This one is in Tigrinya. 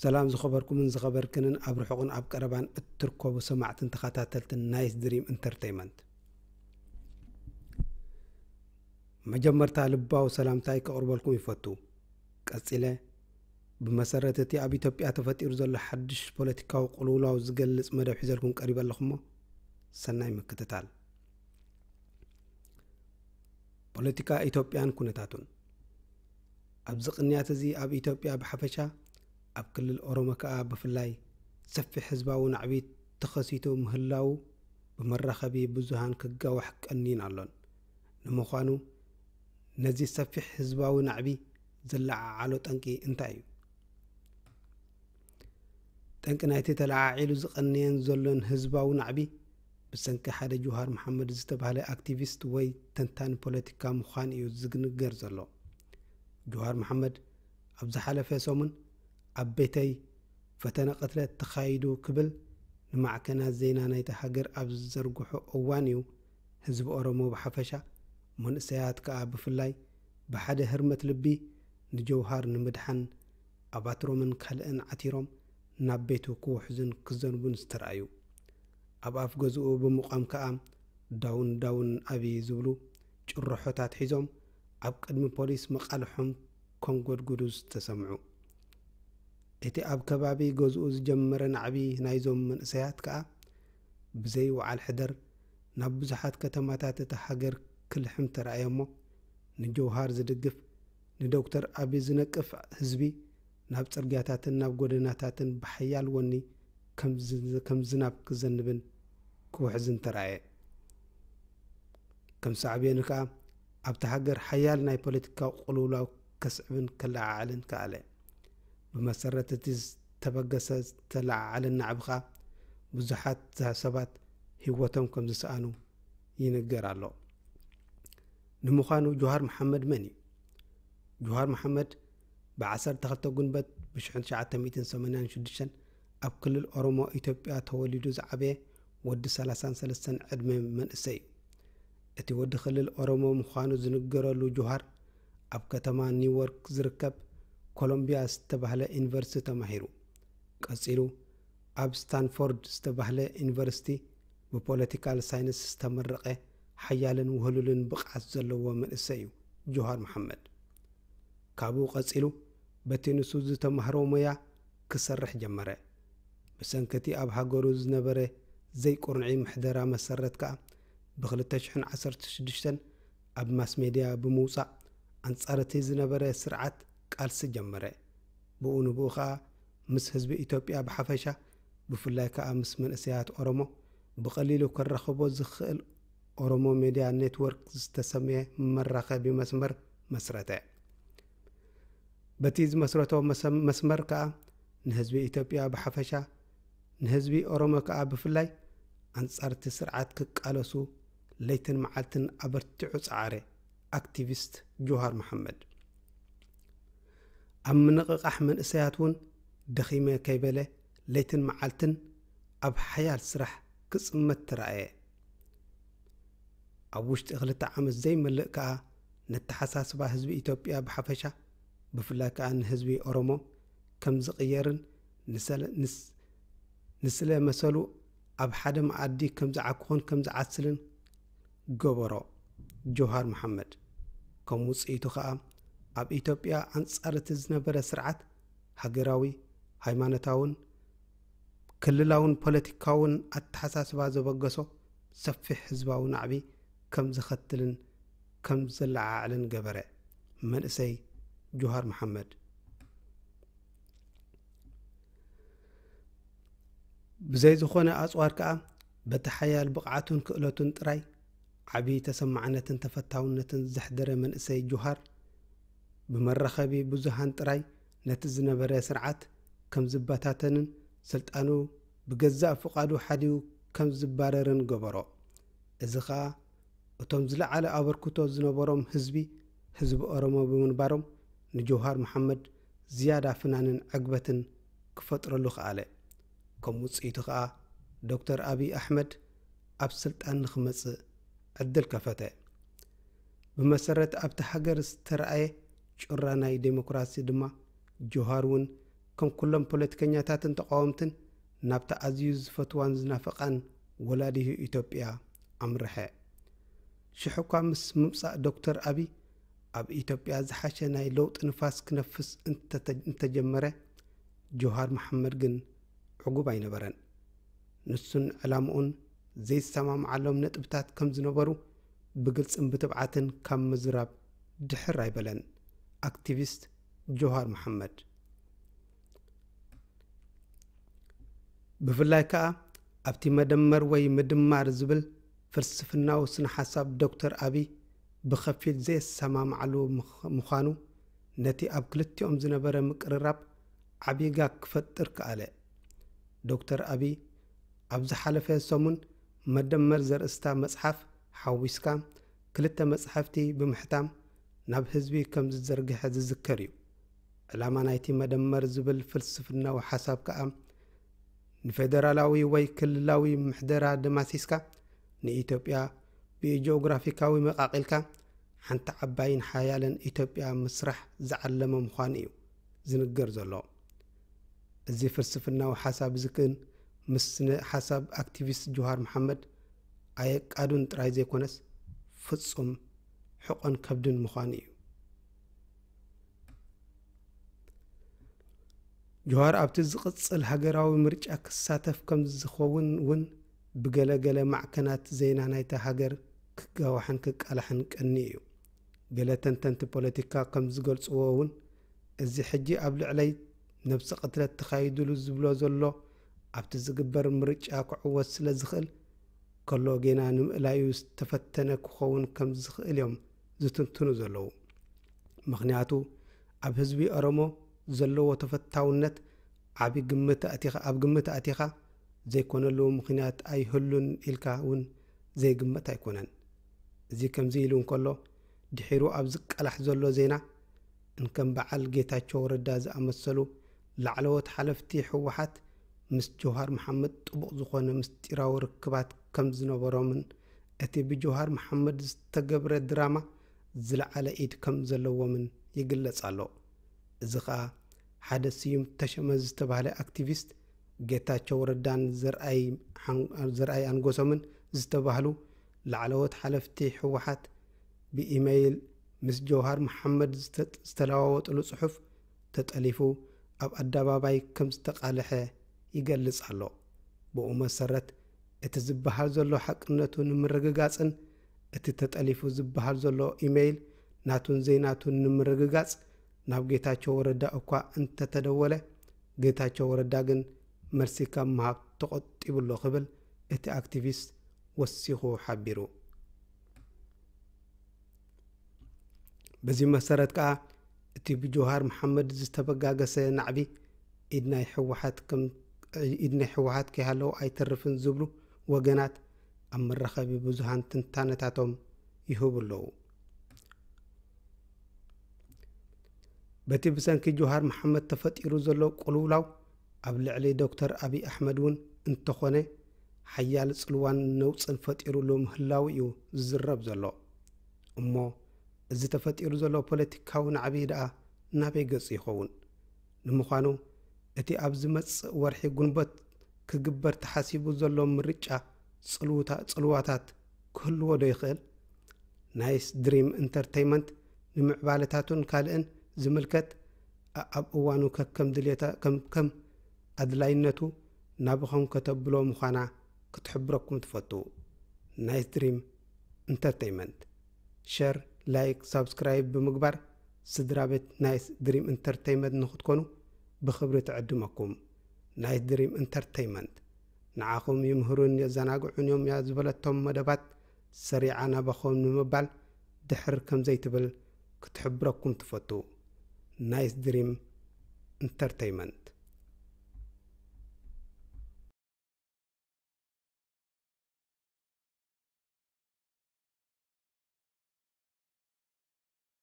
ሰላም ዝኸበርኩምን ዝኸበርክንን ኣብ ርሑቕን ኣብ ቀረባን እትርከቡ ሰማዕትን ተኸታተልትን ናይስ ድሪም ኢንተርተይመንት። መጀመርታ ልባዊ ሰላምታይ ከቕርበልኩም ይፈቱ። ቀጺለ ብመሰረት እቲ ኣብ ኢትዮጵያ ተፈጢሩ ዘሎ ሓድሽ ፖለቲካዊ ቅልውላው ዝገልጽ መደብ ሒዘልኩም ቀሪበ ኣለኹሞ ሰናይ ምክትታል። ፖለቲካ ኢትዮጵያን ኩነታቱን። ኣብዚ ቅንያት እዚ ኣብ ኢትዮጵያ ብሓፈሻ ኣብ ክልል ኦሮሞ ከኣ ብፍላይ ሰፊሕ ህዝባዊ ናዕቢ ተኸሲቱ ምህላዉ ብመራኸቢ ብዙሃን ክጋዋሕ ቀንዩን ኣሎን። ንምዃኑ ነዚ ሰፊሕ ህዝባዊ ናዕቢ ዘለዓዓሎ ጠንቂ እንታይ እዩ? ጠንቂ ናይቲ ተለዓዒሉ ዝቐንየን ዘሎን ህዝባዊ ናዕቢ ብሰንኪ ሓደ ጁሃር መሓመድ ዝተባህለ ኣክቲቪስት ወይ ተንታኒ ፖለቲካ ምዃን እዩ ዝንገር ዘሎ። ጁሃር መሓመድ ኣብ ዝሓለፈ ሰሙን ኣብ ቤተይ ፈተነ ቅትለት ተኻይዱ ክብል ንማዕከናት ዜና ናይታ ሃገር ኣብ ዝዘርግሖ እዋን እዩ ህዝቢ ኦሮሞ ብሓፈሻ መንእሰያት ከኣ ብፍላይ ብሓደ ህርመት ልቢ ንጀውሃር ንምድሓን ኣባትሮምን ካልእን ዓቲሮም ናብ ቤቱ ክውሕዙን ክዘንቡን ዝተራእዩ። ኣብ ኣፍ ገዝኡ ብምቋም ከኣ ዳውን ዳውን ኣብይ ዝብሉ ጭርሖታት ሒዞም ኣብ ቅድሚ ፖሊስ መቓልሖም ከንጎድጉዱ ዝተሰምዑ። እቲ ኣብ ከባቢ ገዝኡ ዝጀመረ ናዕቢ ናይዞም መንእሰያት ከኣ ብዘይ ወዓል ሕደር ናብ ብዙሓት ከተማታት እታ ሃገር ክልሕም ተራእየ እሞ ንጀውሃር ዝድግፍ ንዶክተር ኣቢ ዝነቅፍ ህዝቢ ናብ ጽርግያታትን ናብ ጎደናታትን ብሓያል ወኒ ከም ዝ- ከም ዝናብ ክዘንብን ክውሕዝን ተራእየ። ከም ሳዕቤኑ ከኣ ኣብቲ ሃገር ሓያል ናይ ፖለቲካዊ ቅልውላው ከስዕብን ከለዓዕልን ከኣለ። ብመሰረት እቲ ዝተበገሰ ዝተለዓዓለ ናዕቢ ከኣ ብዙሓት ሰባት ህይወቶም ከም ዝሰኣኑ ይንገር ኣሎ። ንምዃኑ ጆሃር መሓመድ መን እዩ? ጆሃር መሓመድ ብ12 ጉንበት ብ1986 ኣብ ክልል ኦሮሞ ኢትዮጵያ ተወሊዱ ዝዓበየ ወዲ 33 ዕድመ መንእሰይ እዩ። እቲ ወዲ ክልል ኦሮሞ ምዃኑ ዝንገረሉ ጆሃር ኣብ ከተማ ኒውዮርክ ዝርከብ ኮሎምቢያ ዝተባህለ ዩኒቨርሲቲ ተማሂሩ። ቀጺሉ ኣብ ስታንፎርድ ዝተባህለ ዩኒቨርሲቲ ብፖለቲካል ሳይንስ ዝተመረቐ ሓያልን ውህሉልን ብቕዓት ዘለዎ መንእሰይ እዩ ጆሃር መሓመድ። ካብኡ ቀጺሉ በቲ ንሱ ዝተማህሮ ሞያ ክሰርሕ ጀመረ። ብሰንኪ እቲ ኣብ ሃገሩ ዝነበረ ዘይቁርንዒ ምሕደራ መሰረት ከኣ ብ2016 ኣብ ማስ ሜድያ ብምውጻእ ኣንጻር እቲ ዝነበረ ስርዓት ቃልሲ ጀመረ። ብኡ ንብኡ ከኣ ምስ ህዝቢ ኢትዮጵያ ብሓፈሻ ብፍላይ ከኣ ምስ መንእሰያት ኦሮሞ ብቐሊሉ ክረኽቦ ዝኽእል ኦሮሞ ሜድያ ኔትወርክ ዝተሰምየ መራኸቢ መስመር መስረተ። በቲ ዝመስረቶ መሰ- መስመር ከኣ ንህዝቢ ኢትዮጵያ ብሓፈሻ ንህዝቢ ኦሮሞ ከኣ ብፍላይ ኣንጻር እቲ ስርዓት ክቃለሱ ለይትን መዓልትን ኣበርቲዑ ጸዓረ። ኣክቲቪስት ጆሃር መሓመድ ኣብ ምንቕቓሕ መንእሰያት እውን ደኺመ ከይበለ ለይትን መዓልትን ኣብ ሓያል ስራሕ ክጽመት ተራእየ። ኣብ ውሽጢ ክልተ ዓመት ዘይመልእ ከኣ ነተሓሳስባ ህዝቢ ኢትዮጵያ ብሓፈሻ ብፍላይ ከኣ ንህዝቢ ኦሮሞ ከም ዝቕየርን ንሰለ- ንስ- ንስለ መሰሉ ኣብ ሓደ መኣዲ ከም ዝዓኩኹን ከም ዝዓስልን ገበሮ። ጆሃር መሓመድ ከም ውጽኢቱ ከኣ ኣብ ኢትዮጵያ ኣንጻር እቲ ዝነበረ ስርዓት ሃገራዊ፣ ሃይማኖታውን ክልላውን ፖለቲካውን ኣተሓሳስባ ዘበገሶ ሰፊሕ ህዝባዊ ናዕቢ ከም ዘኸትልን ከም ዘለዓዕልን ገበረ። መንእሰይ ጆሃር መሓመድ ብዘይ ዝኾነ ኣጽዋር ከኣ በቲ ሓያል ብቕዓቱን ክእለቱን ጥራይ ዓቢ ተሰማዕነትን ተፈታውነትን ዘሕደረ መንእሰይ ጆሃር ብመራኸቢ ብዙሃን ጥራይ ነቲ ዝነበረ ስርዓት ከም ዝበታተንን ስልጣኑ ብገዛእ ፍቓዱ ሓዲኡ ከም ዝባረርን ገበሮ። እዚ ኸኣ እቶም ዝለዓለ ኣበርክቶ ዝነበሮም ህዝቢ ህዝቢ ኦሮሞ ብምንባሮም ንጀውሃር መሓመድ ዝያዳ ፍናንን ዕግበትን ክፈጥረሉ ከኣለ። ከም ውጽኢቱ ከኣ ዶክተር ኣብይ ኣሕመድ ኣብ ስልጣን ንኽመጽእ ዕድል ከፈተ። ብመሰረት ኣብቲ ሃገር ዝተረኣየ ጩራ ናይ ዴሞክራሲ ድማ ጆሃር እውን ከም ኩሎም ፖለቲከኛታትን ተቓወምትን ናብታ ኣዝዩ ዝፈትዋን ዝናፍቓን ወላዲሁ ኢትዮጵያ ኣምርሐ። ሽሕ እኳ ምስ ምምጻእ ዶክተር ኣቢ ኣብ ኢትዮጵያ ዝሓሸ ናይ ለውጢ ንፋስ ክነፍስ እንተተ-፣ እንተጀመረ፣ ጆሃር መሓመድ ግን ዕጉብ ኣይነበረን። ንሱን ዕላምኡን ዘይሰማምዓሎም ነጥብታት ከም ዝነበሩ ብግልጽን ብትብዓትን ካብ ምዝራብ ድሕር ኣይበለን። ኣክቲቪስት ጆሃር መሓመድ። ብፍላይ ከኣ ኣብቲ መደመር ወይ ምድማር ዝብል ፍልስፍናዊ ስነ ሓሳብ ዶክተር ኣቢ ብኸፊል ዘየሰማምዓሉ ምኽ-፣ ምዃኑ ነቲ ኣብ ክልቲኦም ዝነበረ ምቅርራብ ዓቢ ጋግ ክፈጥር ከኣለ። ዶክተር ኣቢ ኣብ ዝሓለፈ ሰሙን መደመር ዘርእስታ መጽሓፍ ሓዊስካ ክልተ መጻሕፍቲ ብምሕታም ናብ ህዝቢ ከም ዝዘርግሐ ዝዝከር እዩ። ዕላማ ናይቲ መደመር ዝብል ፍልስፍናዊ ሓሳብ ከኣ ንፌደራላዊ ወይ ክልላዊ ምሕደራ ደማሲስካ ንኢትዮጵያ ብጂኦግራፊካዊ መቃቂልካ ሓንቲ ዓባይን ሓያለን ኢትዮጵያ ምስራሕ ዝዓለመ ምዃኑ እዩ ዝንገር ዘሎ። እዚ ፍልስፍናዊ ሓሳብ እዚ ግን ምስ ስነ ሓሳብ ኣክቲቪስት ጆሃር መሓመድ ኣየቃዱን ጥራይ ዘይኮነስ ፍጹም ሕቆን ከብድን ምዃኑ እዩ። ጆሃር ኣብቲ ዝቕጽል ሃገራዊ ምርጫ ክሳተፍ ከም ዝኸውን እውን ብገለ ገለ ማዕከናት ዜና ናይታ ሃገር ክጋዋሕን ክቃላሕን ቀኒ እዩ። ገለ ተንተንቲ ፖለቲካ ከም ዝገልጽዎ እውን፣ እዚ ሕጂ ኣብ ልዕለይ ነብሰ ቅትለት ተኻይዱሉ ዝብሎ ዘሎ ኣብቲ ዝግበር ምርጫ ክዕወት ስለ ዝኽእል ከሎ ጌና ንምእላዩ ዝተፈተነ ክኸውን ከም ዝኽእል እዮም ዝትንትኑ ዘለዉ። ምኽንያቱ ኣብ ህዝቢ ኦሮሞ ዘለዎ ተፈታውነት ዓቢ ግምት ኣእቲኻ፣ ኣብ ግምት ኣእቲኻ ዘይኮነሉ ምኽንያት ኣይህሉን ኢልካ እውን ዘይግመት ኣይኮነን። እዚ ከምዚ ኢሉ እንከሎ፣ ድሒሩ ኣብ ዝቃላሕ ዘሎ ዜና፣ እንከም በዓል ጌታቸው ረዳ ዝኣመሰሉ ላዕለዎት ሓለፍቲ ህወሓት ምስ ጀውሃር መሓመድ ጥቡቕ ዝኾነ ምስጢራዊ ርክባት ከም ዝነበሮምን እቲ ብጀውሃር መሓመድ ዝተገብረ ድራማ ዝለዓለ ኢድ ከም ዘለዎምን ይግለጽ ኣሎ። እዚ ኸኣ ሓደ ስዩም ተሸመ ዝተባህለ ኣክቲቪስት፣ ጌታቸው ረዳን ዘርኣይ ሓን-፣ ዘርኣይ ኣንጎሶምን ዝተባህሉ ላዕለዎት ሓለፍቲ ህወሓት ብኢመይል ምስ ጀውሃር መሓመድ ዝተ-፣ ዝተለዋወጥሉ ጽሑፍ ተጠሊፉ ኣብ ኣደባባይ ከም ዝተቓልሐ ይገልጽ ኣሎ። ብኡ መሰረት፣ እቲ ዝበሃል ዘሎ ሓቅነቱ ንምርግጋጽን እቲ ተጠሊፉ ዝበሃል ዘሎ ኢመይል ናቱን ዘይናቱን ንምርግጋጽ ናብ ጌታቸው ረዳ እኳ እንተተደወለ፣ ጌታቸው ረዳ ግን መልሲ ካብ ምሃብ ተቖጢቡ ኣሎ ክብል እቲ ኣክቲቪስት ወሲኹ ሓቢሩ። በዚ መሰረት ከኣ፣ እቲ ብጀውሃር መሓመድ ዝተበጋገሰ ናዕቢ ኢድ ናይ ህወሓት ከም፣ ኢድ ናይ ህወሓት ከይሃለዎ ኣይተርፍን ዝብሉ ወገናት ኣብ መራኸቢ ብዙሃን ትንታነታቶም ይህቡ ኣለዉ። በቲ ብሰንኪ ጀውሃር መሓመድ ተፈጢሩ ዘሎ ቅልውላው ኣብ ልዕሊ ዶክተር ኣብይ ኣሕመድ እውን እንተኾነ ሓያል ጽልዋን ነውጽን ፈጢሩሉ ምህላው እዩ ዝዝረብ ዘሎ። እሞ እዚ ተፈጢሩ ዘሎ ፖለቲካዊ ናዕቢ ደኣ ናበይ ገጹ ይኸውን? ንምዃኑ እቲ ኣብ ዝመጽእ ወርሒ ጉንበት ክግበር ተሓሲቡ ዘሎ ምርጫ ጽልውታ-፣ ጽልዋታት ክህልዎ ዶ ይኽእል? ናይስ ድሪም ኢንተርተይመንት ንምዕባለታቱን ካልእን ዝምልከት ኣ-፣ ኣብ እዋኑ ከከም ድልየታ-፣ ከም፣ ከም ኣድላይነቱ ናብኹም ከተብሎ ምዃና ክትሕብረኩም ትፈቱ። ናይስ ድሪም ኢንተርተይመንት። ሸር፣ ላይክ፣ ሳብስክራይብ ብምግባር ስድራ ቤት ናይስ ድሪም ኢንተርተይመንት ንኽትኮኑ ብኽብሪ ትዕድመኩም። ናይስ ድሪም ኢንተርተይመንት ንዓኹም ይምህሩን የዘናግዑን እዮም እያ ዝበለቶም መደባት ሰሪዓ ናባኹም ንምባል ድሕር ከም ዘይትብል ክትሕብረኩም ትፈቱ። ናይስ ድሪም ኢንተርተይመንት።